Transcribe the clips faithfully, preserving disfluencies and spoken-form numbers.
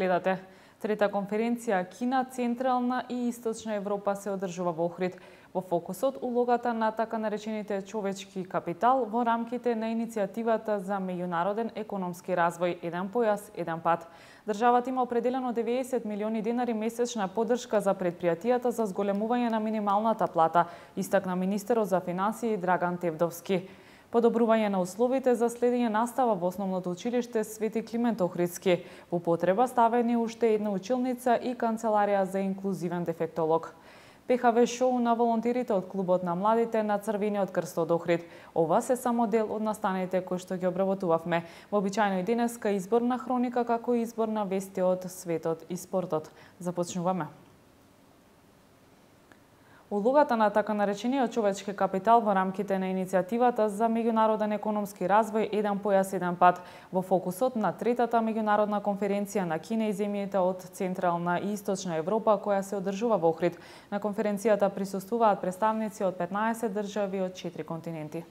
гледате. Трета конференција Кина, Централна и Источна Европа се одржува во Охрид. Во фокусот улогата на така наречените човечки капитал во рамките на иницијативата за меѓународен економски развој Еден појас, еден пат. Државата има определено деветдесет милиони денари месечна поддршка за предпријатијата за зголемување на минималната плата, истакна министерот за финансии Драган Тевдовски. Подобрување на условите за следење настава во основното училиште Свети Климент Охридски. Во потреба ставени уште една училница и канцеларија за инклузивен дефектолог. Пе Ха Ве шоу на волонтерите од Клубот на младите на Црвениот крст од Охрид. Ова се само дел од настаните кои што ги обработувавме. Вообичаено и денеска изборна хроника како и избор на вести од светот и спортот. Започнуваме. Улогата на така наречениот човечки капитал во рамките на иницијативата за меѓународен економски развој Еден појас, еден пат во фокусот на третата меѓународна конференција на Кина и земјите од Централна и Источна Европа која се одржува во Охрид. На конференцијата присуствуваат представници од петнаесет држави од четири континенти.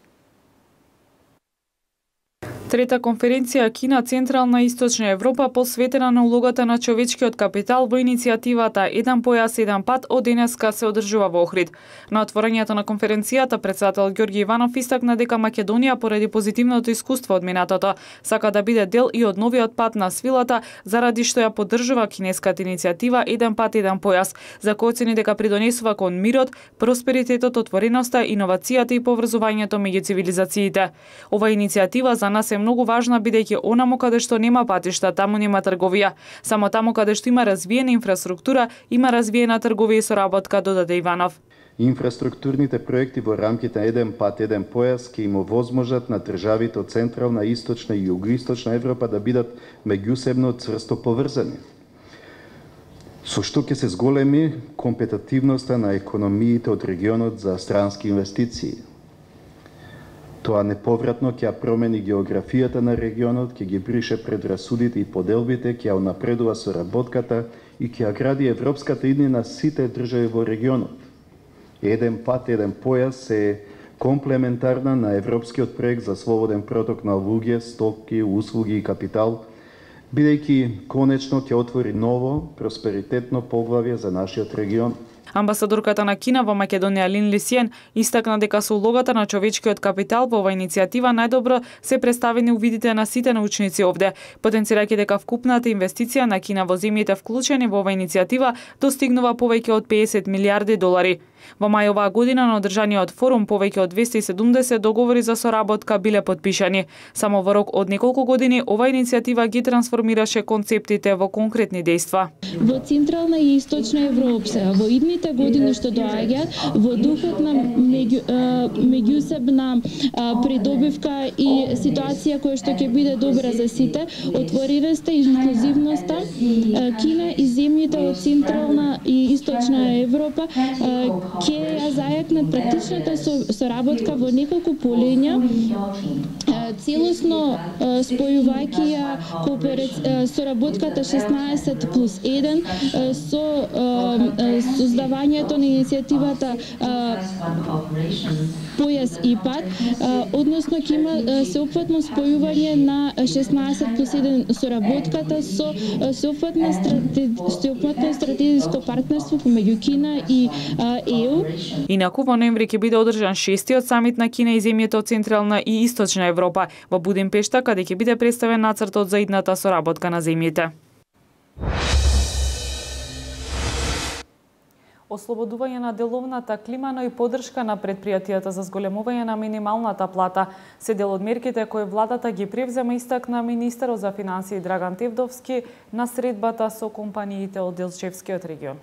Трета конференција Кина, Централна и Источна Европа посветена на улогата на човечкиот капитал во иницијативата Еден појас, еден пат од денеска се одржува во Охрид. На отворањето на конференцијата председател Ѓорги Иванов истакна дека Македонија поради позитивното искуство од минатото сака да биде дел и од новиот пат на свилата заради што ја поддржува кинеската иницијатива Еден пат, еден појас, за кој оцени дека придонесува кон мирот, просперитетот, отвореноста, иновацијата и поврзувањето меѓу цивилизациите. Ова иницијатива за нас е многу важна бидејќи онамо каде што нема патишта, таму нема трговија. Само таму каде што има развиена инфраструктура, има развиена трговија и соработка, додаде Иванов. Инфраструктурните проекти во рамките на Еден пат, еден појас ќе им овозможат на државите од Централна, Источна и Југоисточна Европа да бидат меѓусебно цврсто поврзани, со што ќе се зголеми компетитивноста на економиите од регионот за странски инвестиции. Тоа неповратно ќе промени географијата на регионот, ќе ги брише предрасудите и поделбите, ќе ја унапредува соработката и ќе ја гради европската иднина сите држави во регионот. Еден пат, еден појас е комплементарна на европскиот проект за слободен проток на луѓе, стоки, услуги и капитал, бидејќи конечно ќе отвори ново, просперитетно поглавје за нашиот регион. Амбасадорката на Кина во Македонија Лин Лисиен истакна дека со улогата на човечкиот капитал во оваа иницијатива најдобро се представени увидите на сите научници овде, потенцирајќи дека вкупната инвестиција на Кина во земјите вклучени во оваа иницијатива достигнува повеќе од педесет милијарди долари. Во мај оваа година на одржаниот форум повеќе од двесте и седумдесет договори за соработка биле подпишани. Само во рок од неколку години оваа иницијатива ги трансформираше концептите во конкретни дејства. Во Централна и Источна Европа во идните години што доаѓаат во духот на меѓу, меѓусебна придобивка и ситуација која што ќе биде добра за сите, отвореноста и инклузивноста, Кина и земјите од Централна и Источна Европа ќе ја зајакнат практичната соработка во неколку полења, целосно спојувајќи ја соработката шеснаесет плюс еден со создавањето на иницијативата Појас и пат, односно ќе има сеопфатно спојување на шеснаесет плюс еден соработката со сеопфатно стратегиско партнерство помеѓу Кина и Е У. Инаку во ноември ќе биде одржан шестиот самит на Кина и земјите од Централна и Источна Европа во Будимпешта, каде ќе биде представен нацртот за идната соработка на земјите. Ослободување на деловната клима, но и поддршка на предпријатијата за зголемување на минималната плата се дел од мерките кои владата ги превзема, истакна министерот за финансии Драган Тевдовски на средбата со компаниите од Делчевскиот регион.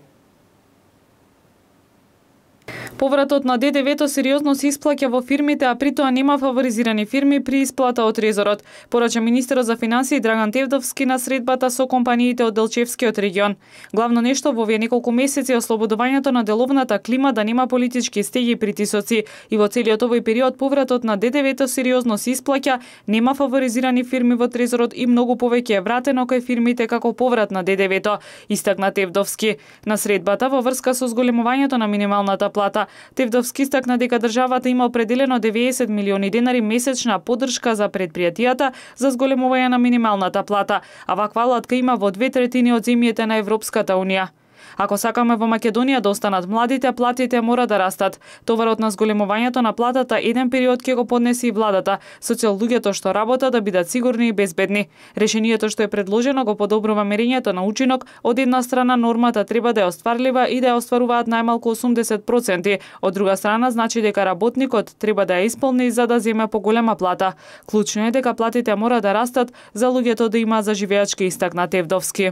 Повратот на Д Д В-то сериозно се исплаќа во фирмите, а при тоа нема фаворизирани фирми при исплата од трезорот, порача министерот за финансии Драган Тевдовски на средбата со компаниите од Делчевскиот регион. Главно нешто во овие неколку месеци е ослободувањето на деловната клима да нема политички стеги и притисоци и во целиот овој период повратот на Д Д В-то сериозно се исплаќа, нема фаворизирани фирми во трезорот и многу повеќе е вратено кај фирмите како поврат на Д Д В-то, истакна Тевдовски. На средбата во врска со зголемувањето на минималната плата, Тевдовски истакна дека државата има определено деветдесет милиони денари месечна поддршка за предпријатијата за зголемување на минималната плата, а ваква алатка има во две третини од земјите на Европската унија. Ако сакаме во Македонија да останат младите, платите мора да растат. Товарот на зголемувањето на платата еден период ќе го поднесе и владата, со цел луѓето што работат да бидат сигурни и безбедни. Решението што е предложено го подобрува мерењето на учинок. Од една страна нормата треба да е остварлива и да ја остваруваат најмалку осумдесет проценти. Од друга страна значи дека работникот треба да ја исполни за да земе поголема плата. Клучно е дека платите мора да растат за луѓето да има заживеачки, истакна Тевдовски.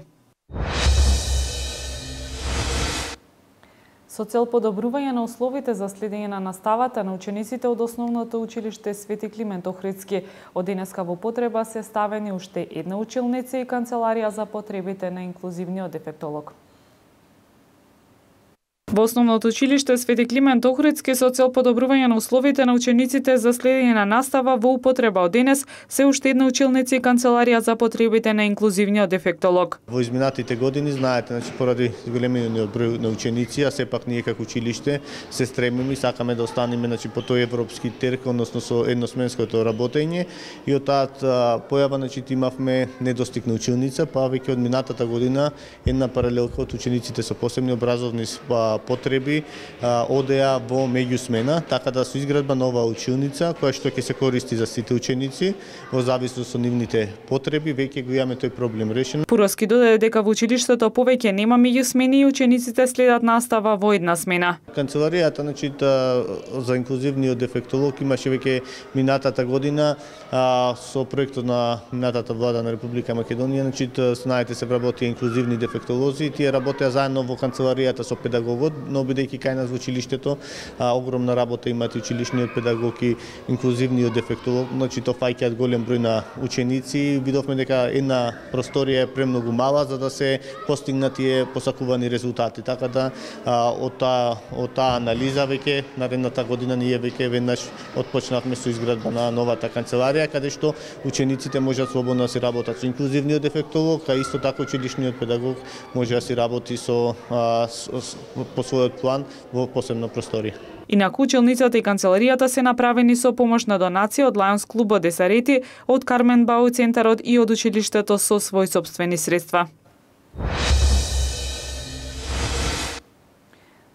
Со цел подобрување на условите за следење на наставата на учениците од Основното училиште Свети Климент Охридски, од денеска во потреба се ставени уште една училница и канцеларија за потребите на инклузивниот дефектолог. Во Основното училиште Свети Климент Охридски со цел подобрување на условите на учениците за следење на настава во употреба од денес се уште една училница и канцеларија за потребите на инклузивниот дефектолог. Во изминатите години знаете, значи поради големиот број на ученици, а сепак ние како училиште се стремиме и сакаме да останеме значи по тој европски терк, односно со едносменското работење, и од таа појава значи имавме недостиг на училница, па веќе од минатата година една паралелка од учениците со посебни образовни потреби одеа во меѓусмена, така да со изградба нова училница која што ќе се користи за сите ученици во зависност од нивните потреби, веќе го имаме тој проблем решен. Пуровски додаде дека во училиштето повеќе нема меѓусмени и учениците следат настава во една смена. Канцеларијата значи за инклузивниот дефектолог имаше веќе минатата година а, со проектот на минатата влада на Република Македонија, значи знаете се вработија инклузивни дефектолози и тие работеа заедно во канцеларијата со педагогот, но бидејќи кај нас во училиштето а, огромна работа имаат и училишниот педагог и инклузивниот дефектолог, значи тоа фаќаат голем број на ученици. Видовме дека една просторија е премногу мала за да се постигнат тие посакувани резултати. Така да а, од таа од таа анализа веќе наредната година ние веќе веднаш отпочнавме со изградба на новата канцеларија, каде што учениците можат слободно да се работат со инклузивниот дефектолог, а исто така училишниот педагог може да се работи со, а, со, со по својот план во посебна просторија. Инаку училницата и канцеларијата се направени со помош на донација од Лајонс клубот Десарети, од Кармен Бау центарот и од училиштето со своји сопствени средства.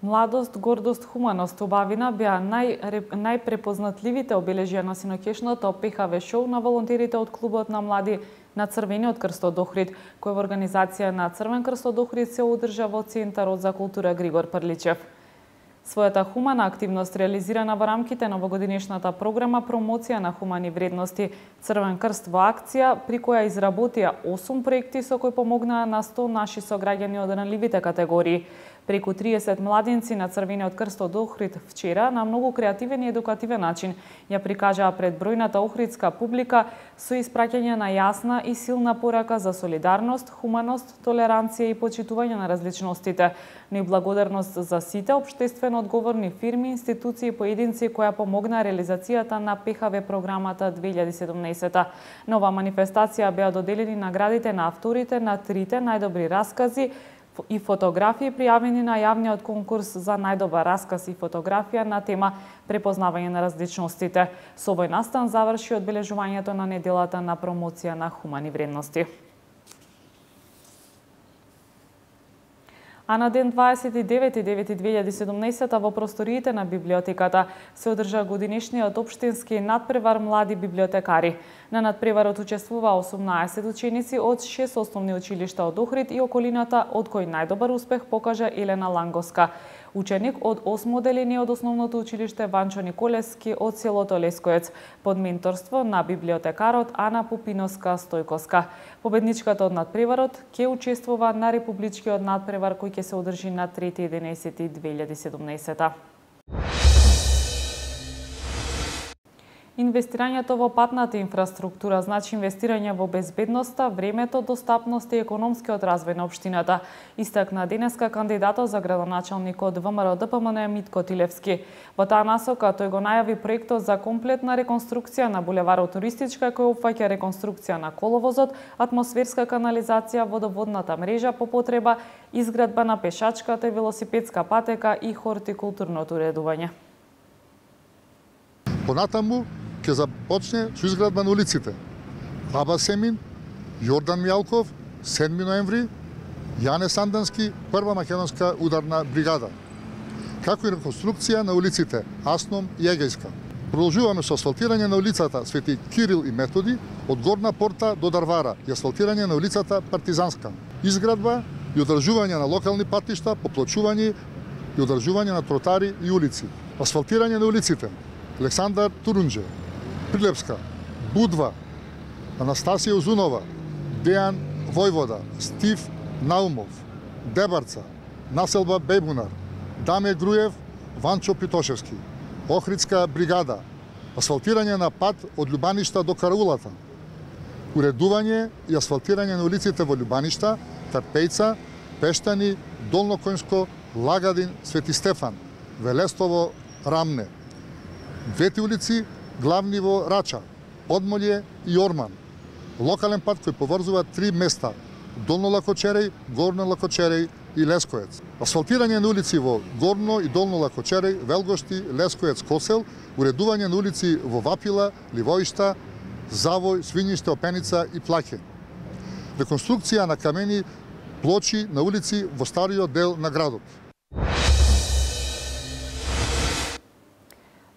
Младост, гордост, хуманост, убавина беа нај, најпрепознатливите обележија на синокешното ПХВ шоу на волонтерите од клубот на млади на Црвениот крст од Охрид, кој во организација на Црвен крст од Охрид се одржа во Центарот за култура Григор Прличев. Својата хумана активност реализирана во рамките на овогодишната програма Промоција на хумани вредности Црвен крст во акција, при која изработија осум проекти со кои помогнаа на сто наши сограѓани од ранливите категории. Преку триесет младинци на Црвениот крст од Охрид вчера на многу креативен и едукативен начин ја прикажаа пред бројната охридска публика со испраќање на јасна и силна порака за солидарност, хуманост, толеранција и почитување на различностите, но и благодарност за сите општествено одговорни фирми, институции и поединци која помогнаа реализацијата на ПХВ програмата две илјади и седумнаесета. На оваа манифестација беа доделени наградите на авторите на трите најдобри раскази и фотографии пријавени на јавниот конкурс за најдобар расказ и фотографија на тема препознавање на различностите. Со овој настан заврши одбележувањето на неделата на промоција на хумани вредности. А на ден дваесет и девети девети две илјади и седумнаесета во просториите на библиотеката се одржа годинишниот општински надпревар млади библиотекари. На надпреварот учествува осумнаесет ученици од шест основни училишта од Охрид и околината, од кој најдобар успех покажа Елена Лангоска, ученик од осмо одделение од основното училиште Ванчо Николевски од селото Лескоец, под менторство на библиотекарот Ана Пупиноска Стојковска. Победничката од надпреварот ќе учествува на републичкиот надпревар кој ќе се одржи на трети единаесети две илјади и седумнаесета. Инвестирањето во патната инфраструктура значи инвестирање во безбедноста, времето, достапност и економскиот развој на општината, истакна денеска кандидатот за градоначалник од ВМРО Д П М Н Митко Тилевски. Во таа насока тој го најави проектот за комплетна реконструкција на булеварот Туристичка, кој опфаќа реконструкција на коловозот, атмосферска канализација, водоводната мрежа по потреба, изградба на пешачката и велосипедска патека и хортикултурното уредување. Понатаму ќе започне со изградба на улиците Аба Семин, Јордан Мјалков, седми ноември, Јане Сандански, прва македонска ударна бригада, како и реконструкција на улиците Асном и Егејска. Продолжуваме со асфалтирање на улицата Свети Кирил и Методи од Горна порта до Дарвара и асфалтирање на улицата Партизанска. Изградба и одржување на локални патишта, поплочување и одржување на тротари и улици. Асфалтирање на улиците Александар Турунџе, Прилепска, Будва, Анастасија Узунова, Дејан Војвода, Стив Наумов, Дебарца, населба Бејбунар, Даме Груев, Ванчо Питошевски, Охридска бригада, асфалтирање на пат од Љубаништа до Караулата, уредување и асфалтирање на улиците во Љубаништа, Тарпејца, Пештани, Долно Коњско, Лагадин, Свети Стефан, Велестово, Рамне. Двете улици главни во Рача, Подмолје и Орман. Локален пат кој поврзува три места: Долно Лакочереј, Горно Лакочереј и Лескоец. Асфалтирање на улици во Горно и Долно Лакочереј, Велгошти, Лескоец, Косел, уредување на улици во Вапила, Ливоишта, Завој, Свињиште, Опеница и Плаке. Реконструкција на камени плочи на улици во стариот дел на градот.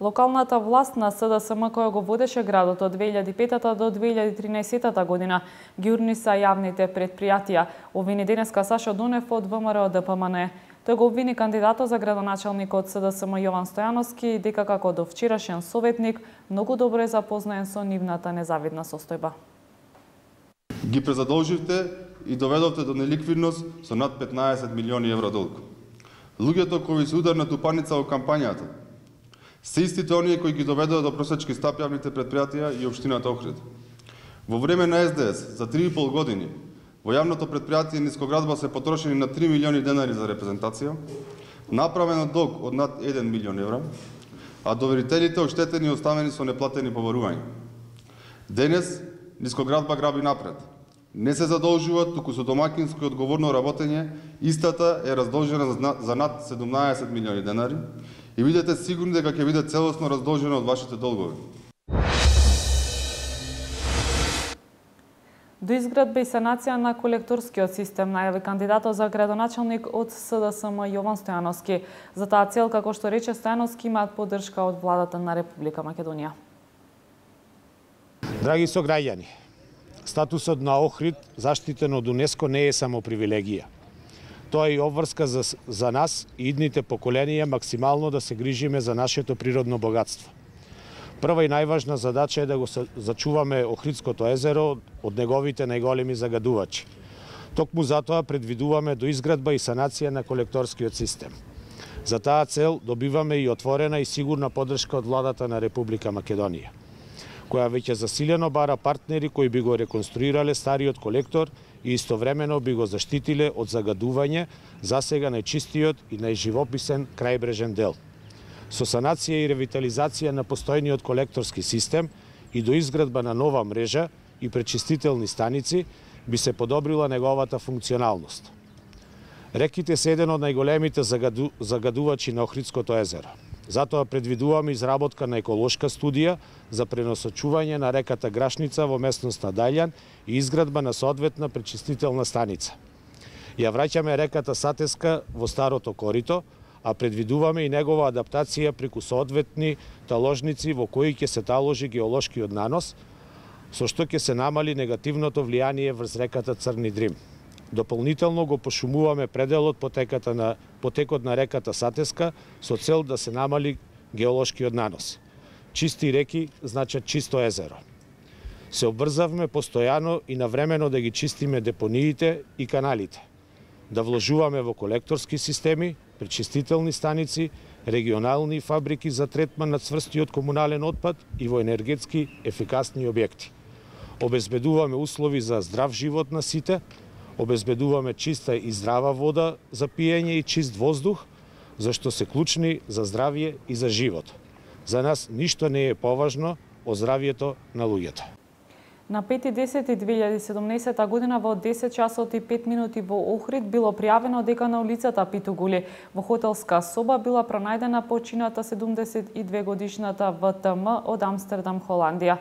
Локалната власт на С Д С М, која го водеше градот од две илјади и петата до две илјади и тринаесетта година, ги урниса јавните предпријатија, обвини денеска Сашо Дунев од В М Р О Д П М Н. Тој го обвини кандидатот за градоначалник од С Д С М Јован Стојановски дека како до вчерашен советник многу добро е запознаен со нивната незавидна состојба. Ги презадолживте и доведовте до неликвидност со над петнаесет милиони евро долг. Луѓето кои се ударна тупаница во кампањата се истите оние кои ги доведоа до просечки стап јавните предпријатија и општината Охрид. Во време на С Д С за три и пол години во јавното предпријатие Нискоградба се потрошени на три милиони денари за репрезентација, направено долг од над еден милион евра, а доверителите оштетени и оставени со неплатени побарувања. Денес Нискоградба граби напред. Не се задолжува, туку со домакинско и одговорно работење, истата е раздолжена за над седумнаесет милиони денари и бидете сигурни дека ќе биде целосно раздолжена од вашите долгови. До изградба и санација на колекторскиот систем најави кандидатот за градоначалник од С Д С М Јован Стојановски. За таа цел, како што рече Стојановски, имаат поддршка од владата на Република Македонија. Драги сограѓани, статусот на Охрид, заштитен од УНЕСКО, не е само привилегија. Тоа е и обврска за, за нас и идните поколенија максимално да се грижиме за нашето природно богатство. Прва и најважна задача е да го зачуваме Охридското езеро од неговите најголеми загадувачи. Токму затоа предвидуваме до изградба и санација на колекторскиот систем. За таа цел добиваме и отворена и сигурна поддршка од владата на Република Македонија, која веќе засилено бара партнери кои би го реконструирале стариот колектор и истовремено би го заштитиле од загадување, засега најчистиот и најживописен крајбрежен дел. Со санација и ревитализација на постојниот колекторски систем и до изградба на нова мрежа и пречистителни станици би се подобрила неговата функционалност. Реките се еден од најголемите загаду... загадувачи на Охридското езеро. Затоа предвидуваме изработка на еколошка студија за пренасочување на реката Грашница во местноста Дајлјан и изградба на соодветна пречистителна станица. Ја враќаме реката Сатеска во старото корито, а предвидуваме и негова адаптација преку соодветни таложници во кои ќе се таложи геолошкиот нанос, со што ќе се намали негативното влијание врз реката Црни Дрим. Дополнително го пошумуваме пределот потеката на, потекот на реката Сатеска со цел да се намали геолошкиот нанос. Чисти реки значат чисто езеро. Се обврзавме постојано и навремено да ги чистиме депониите и каналите, да вложуваме во колекторски системи, пречистителни станици регионални фабрики за третман на цврстиот комунален отпад и во енергетски ефикасни објекти. Обезбедуваме услови за здрав живот на сите, обезбедуваме чиста и здрава вода за пиење и чист воздух, зашто се клучни за здравје и за живот. За нас ништо не е поважно од здравјето на луѓето. На пети десети две илјади и седумнаесета година во десет часот и пет минути во Охрид било пријавено дека на улицата Питугули во хотелска соба била пронајдена почината седумдесет и две годишната В Т М од Амстердам, Холандија.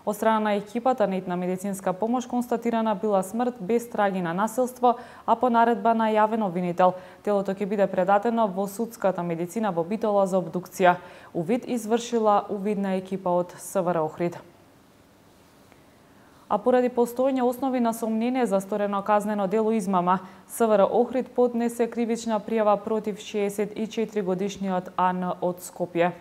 Од страна на екипата на итна медицинска помош констатирана била смрт без траги на насилство, а по наредба на јавен обвинител. Телото ќе биде предадено во судската медицина во Битола за обдукција. Увид извршила увидна екипа од С В Р Охрид. А поради постојање основи на сомнение за сторено казнено дело измама, С В Р Охрид поднесе кривична пријава против шеесет и четири годишниот А Н од Скопје.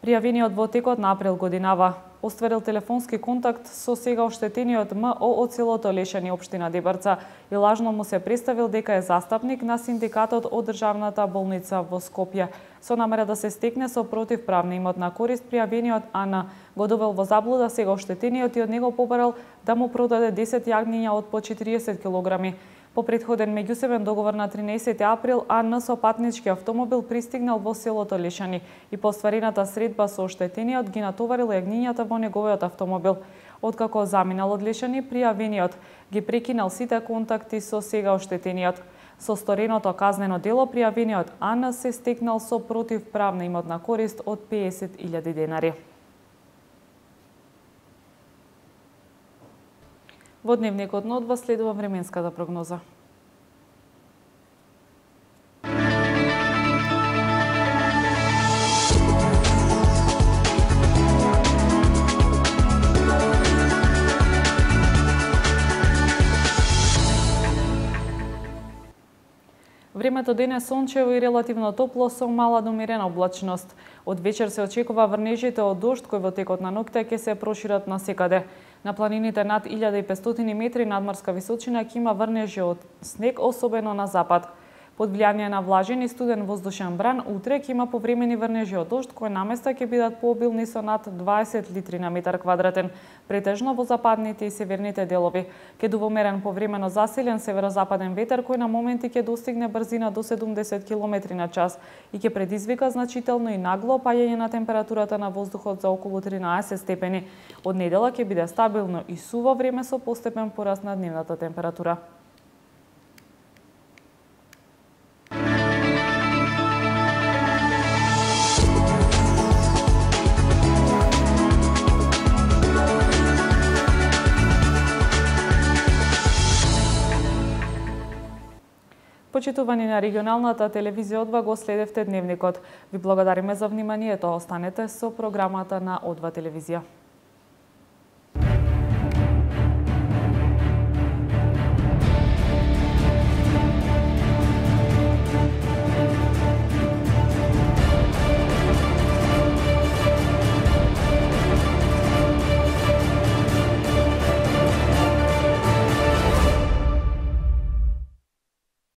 Пријавениот во текот на април годинава остварил телефонски контакт со сега оштетениот М О од селото Лешани, општина Дебарца, и лажно му се представил дека е застапник на синдикатот од државната болница во Скопје. Со намера да се стекне со противправна имотна корист, пријавениот А Н го довел во заблуда сега оштетениот и од него побарал да му продаде десет јагниња од по четириесет килограми. По претходен меѓусебен договор на тринесети април, А Н со патнички автомобил пристигнал во селото Лешани и по стварената средба со оштетениот ги натоварил јагнињата во неговиот автомобил. Откако заминал од Лешани, пријавениот ги прекинал сите контакти со сега оштетениот. Со стореното казнено дело, пријавениот А Н се стекнал со противправна имотна корист од песет илјади денари. Во дневникот на одва следува временската прогноза. Времето денес сончево и релативно топло со мала до умерена облачност. Од вечер се очекува врнежите од дожд кои во текот на ноќта ќе се прошират насекаде. На планините над илјада и петстотини метри надморска височина ќе има врнежи од снег, особено на запад. Под влијание на влажен и студен воздушен бран, утре ќе има повремени врнежи од дожд кои наместа ќе бидат пообилни со над дваесет литри на метар квадратен, претежно во западните и северните делови. Ќе дува умерен повремено заселен северозападен ветер кој на моменти ќе достигне брзина до седумдесет километри на час и ќе предизвика значително и нагло паѓање на температурата на воздухот за околу тринаесет степени. Од недела ќе биде стабилно и суво време со постепен пораст на дневната температура. Почитувани на регионалната телевизија Одва, го следевте дневникот. Ви благодариме за вниманието. Останете со програмата на Одва телевизија.